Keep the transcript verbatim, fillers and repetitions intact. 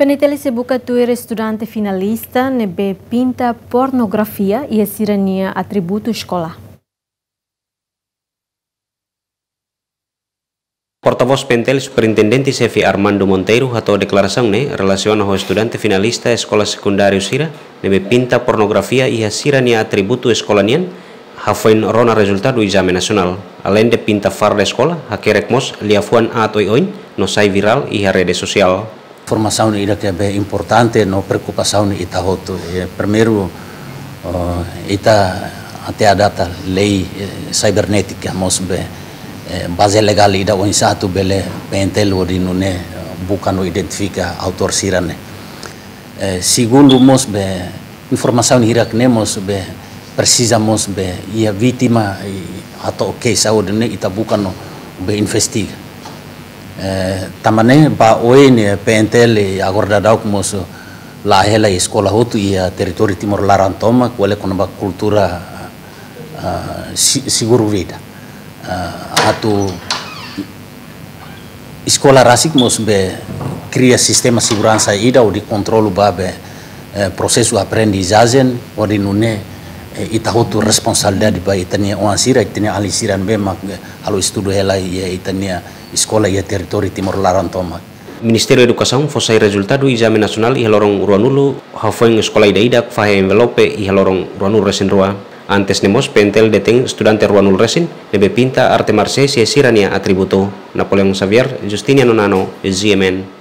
PNTL sei buka tuir estudante finalista ne'ebé pinta pornografia iha sira-nia atributu eskola. Portavós PNTL, Superintendente Xefe Armando Monteiro, hato'o deklarasaun ne'e relasiona ho estudante finalista eskola sekundáriu sira ne'ebé pinta pornografia iha sira-nia atributu eskola nian, hafoin rona rezultadu ezame nasionál. Aleinde pinta farda eskola, hakerek mós liafuan aat oioin no sai virál iha rede sosiál. Informasaun ida ke be importante no preokupasaun ita hotu. Eh, primeiru, eh, ita até a data lei, eh, cibernética mós be, eh, baze legál ida oinsá atu bele PNTL hodi nune'e, eh, buka no identifika autór sira-ne'e. Eh, segundu mós be informasaun hirak-ne'e mós be presiza mós be iha vítima, i, atu oke saúde ne'e ita buka no be investiga. Eh, tanba ne'e ba oin ne'e PNTL agora daudauk mós la'o hela eskola hotu iha territóriu Timor laran tomak, ko'alia kona-ba kultura, ah, si-, seguru vida. Ah, atu eskola rasik mós be kria sistema seguransa ida hodi kontrolu ba be, eh, prosesu aprendizajen hodi nune'e, eh, ita hotu responsabilidade ba ita-nia oan sira, ita-nia alin sira ne'ebé mak, eh, halo estudu hela iha ita-nia eskola iha territóriu Timor laran tomak. Ministériu Edukasaun fó sai rezultadu ezame nasionál iha loron ruanulu, hafoin eskola ida-idak fahe envelope iha loron ruanulu resin rua. Antes ne'e mós PNTL detein estudante ruanulu resin ne'ebé pinta arte marsiais iha sira-nia atributu. Napoleão Xavier, Justiniano Nano, GMN.